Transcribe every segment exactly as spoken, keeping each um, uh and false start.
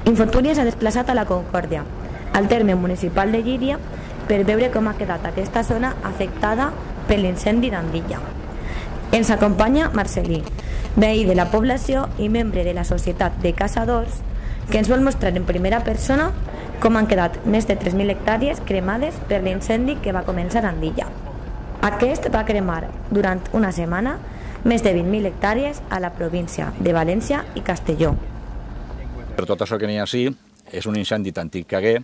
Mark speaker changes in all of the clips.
Speaker 1: Infortúnia s'ha desplaçat a la Concòrdia, al terme municipal de Llíria, per veure com ha quedat aquesta zona afectada per l'incendi d'Andilla. Ens acompanya Marcelí, veí de la població i membre de la Societat de Caçadors, que ens vol mostrar en primera persona com han quedat més de tres mil hectàrees cremades per l'incendi que va començar a Andilla. Aquest va cremar durant una setmana més de vint mil hectàrees a la província de València i Castelló.
Speaker 2: Per tot això que n'hi ha així, és un incendi tan antic que hagué,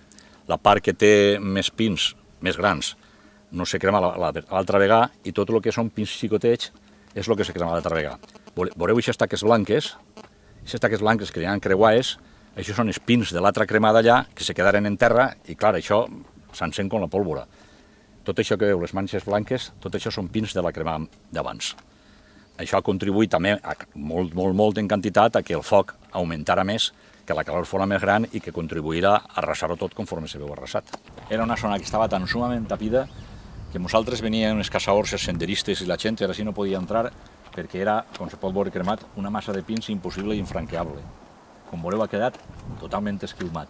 Speaker 2: la part que té més pins, més grans, no se crema l'altra vegada, i tot el que són pins xicotets és el que se crema l'altra vegada. Veureu aquestes taques blanques, aquestes taques blanques que hi ha creuades, això són els pins de l'altra cremada allà, que se quedaren en terra, i clar, això s'encén com la pólvora. Tot això que veu, les manxes blanques, tot això són pins de la cremada d'abans. Això ha contribuït també, molt, molt, molt en quantitat, a que el foc augmentara més, que la calor fos més gran i que contribuirà a arrasar-ho tot conforme se veu arrasat. Era una zona que estava tan sumament tapida que nosaltres venien els caçadors, els senderistes i la gent, ara sí no podia entrar perquè era, com se pot veure cremat, una massa de pins impossible i infranqueable. Com veureu, ha quedat totalment esquilmat.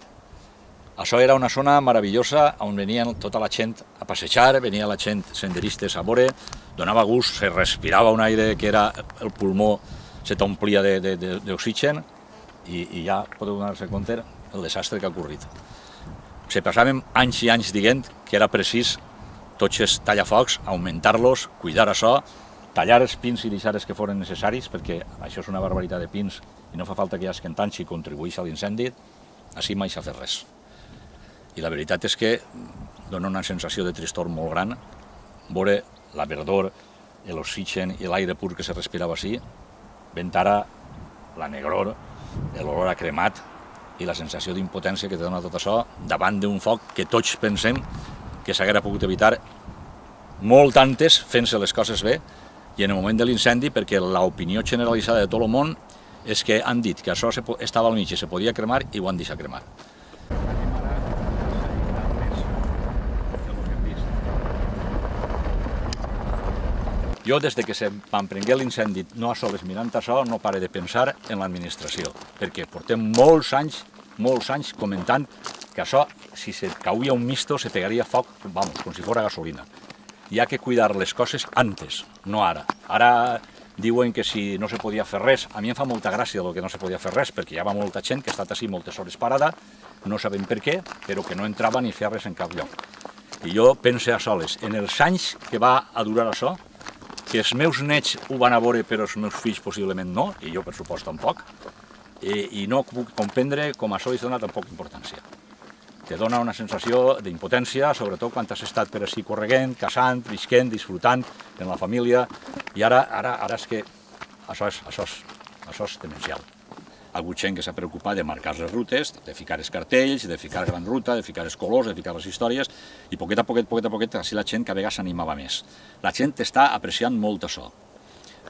Speaker 2: Això era una zona meravellosa on venien tota la gent a passejar, venia la gent senderistes a veure, donava gust, se respirava un aire que era el pulmó, se t'omplia d'oxigen, i, i ja podeu donar-se compte el desastre que ha ocorrit. Se passàvem anys i anys dient que era precís tots els tallafocs, augmentar-los, cuidar això, tallar els pins i deixar els que foren necessaris, perquè això és una barbaritat de pins i no fa falta que hi hagi tant si contribueix a l'incendi, així mai s'ha fet res. I la veritat és que dona una sensació de tristor molt gran veure la verdor, l'oxigen i l'aire pur que se respirava així, vent ara la negror, l'olor a cremat i la sensació d'impotència que te dona tot això davant d'un foc que tots pensem que s'haguera pogut evitar molt antes fent-se les coses bé i en el moment de l'incendi, perquè l'opinió generalitzada de tot el món és que han dit que això estava al mig i se podia cremar i ho han deixat cremar. Jo, des que m'emprengué l'incendi, no a soles mirant això, no pare de pensar en l'administració, perquè portem molts anys, molts anys comentant que això, si se cauia un misto, se pegaria foc, vamos, com si fos gasolina. Hi ha que cuidar les coses antes, no ara. Ara diuen que si no se podia fer res, a mi em fa molta gràcia el que no se podia fer res, perquè hi ha molta gent que ha estat així moltes hores parada, no sabem per què, però que no entrava ni feia res en cap lloc. I jo pense a soles, en els anys que va a durar això, que els meus nets ho van a veure però els meus fills possiblement no, i jo per supost tampoc, i no puc comprendre com això li dona tan poca importància. Te dona una sensació d'impotència, sobretot quan has estat per així correguent, caçant, visquent, disfrutant en la família, i ara és que això és demencial. Ha hagut gent que s'ha preocupat de marcar les rutes, de ficar els cartells, de ficar gran ruta, de ficar els colors, de ficar les històries, i poquet a poquet, poquet a poquet, així la gent cada vegada s'animava més. La gent està apreciant molt això.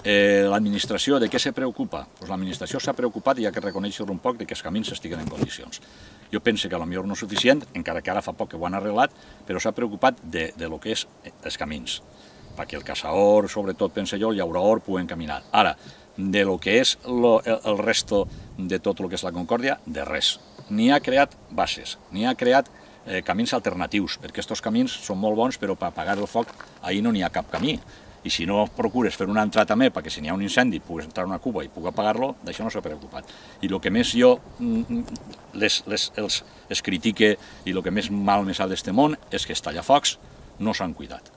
Speaker 2: L'administració, de què se preocupa? L'administració s'ha preocupat i ha que reconèixer un poc que els camins estiguen en condicions. Jo penso que potser no és suficient, encara que ara fa poc que ho han arreglat, però s'ha preocupat de lo que és els camins, perquè el caçador, sobretot, penso jo, el llaurador, puguen caminar. Ara, de lo que és el resto de tot el que és la Concòrdia, de res. Ni ha creat bases, ni ha creat camins alternatius, perquè aquests camins són molt bons, però per apagar el foc ahir no n'hi ha cap camí. I si no procures fer una entrada també, perquè si n'hi ha un incendi puguis entrar una cuba i puc apagar-lo, d'això no s'ha preocupat. I el que més jo els critique i el que més mal me sap d'este món és que els tallafocs no s'han cuidat.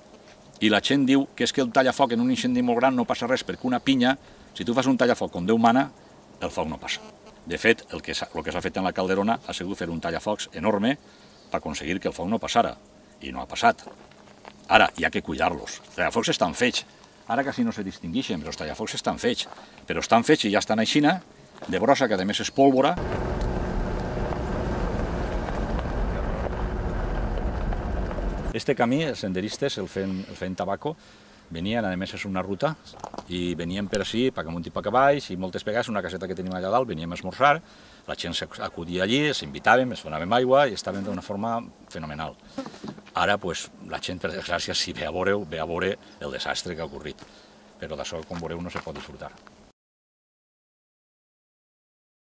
Speaker 2: I la gent diu que és que el tallafoc en un incendi molt gran no passa res, perquè una pinya, si tu fas un tallafoc com Déu mana, el foc no passa. De fet, el que s'ha fet en la Calderona ha sigut fer un tallafocs enorme per aconseguir que el foc no passara, i no ha passat. Ara, hi ha que cuidar-los. Els tallafocs estan fets. Ara quasi no se distingueixen, però els tallafocs estan fets. Però estan fets i ja estan aixina, de brossa, que a més és pólvora. Este camí, els senderistes, el feien tabaco, venien, a més és una ruta, i venien per així, per amunt i per baix, i moltes vegades una caseta que tenim allà dalt, veníem a esmorzar, la gent s'acudia allí, s'invitàvem, es donàvem aigua i estàvem d'una forma fenomenal. Ara, la gent, per desgràcia, si ve a veure, ve a veure el desastre que ha ocorrit. Però d'això, com veureu, no se pot disfrutar.